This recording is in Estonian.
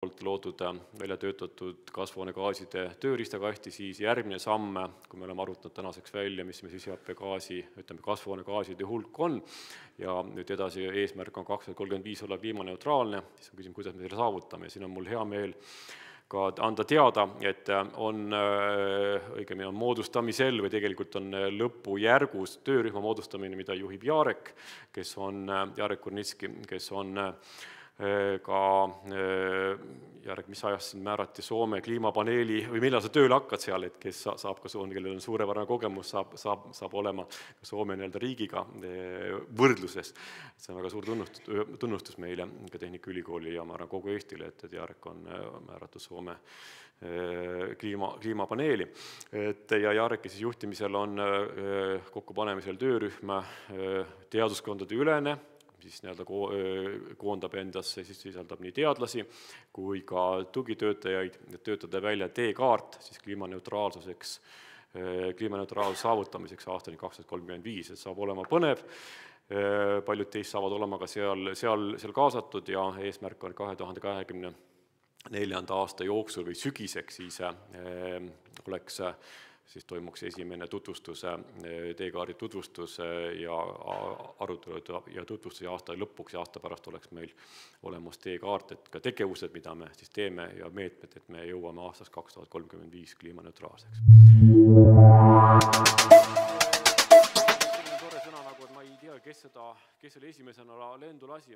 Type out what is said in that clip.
poolt loodud välja töötatud kasvuhoonegaaside tööriistakasti, siis järgmine samm, kui me oleme arvutanud tänaseks välja, mis me süsihappegaasi, ütleme kasvuhoonegaaside hulk on, ja nüüd edasi eesmärk on 2035 olla kliimaneutraalne, siis on küsimus, kuidas me selle saavutame, ja siin on mul hea meel ka anda teada, et õigemini on moodustamisel või tegelikult on lõpujärgus töörühma moodustamine, mida juhib Jarek Kurnitski, kes on ka, Jarek, mis ajast siin määrati Soome kliimapaneeli või millal sa tööle hakkad seal, et kes saab ka kellel on suurepärane kogemus, saab olema Soome riigiga võrdluses. See on väga suur tunnustus meile, ka Tehnikaülikooli ja ma arvan kogu Eestile, et Jarek on määratud Soome kliimapaneeli. Ja Jareki juhtimisel on kokkupanemisel töörühm teaduskondade ülene, siis koondab endasse, siis sisaldab nii teadlasi kui ka tugitöötajaid, et töötada välja teekaart siis kliimaneutraalsuseks, kliimaneutraalsuse saavutamiseks aastani 2035, et saab olema põnev, paljud teist saavad olema ka seal kaasatud ja eesmärk on 2024. aasta jooksul või sügiseks siis toimuks esimene tutvustus, teekaardi tutvustus ja arutelud ja tutvustus ja aasta lõpuks ja aasta pärast oleks meil olemas teekaart, et ka tegevused, mida me siis teeme ja meetmed, et me jõuame aastast 2035 kliimaneutraalseks. Tore sõna, nagu et ma ei tea, kes selle esimesena lendu lasi.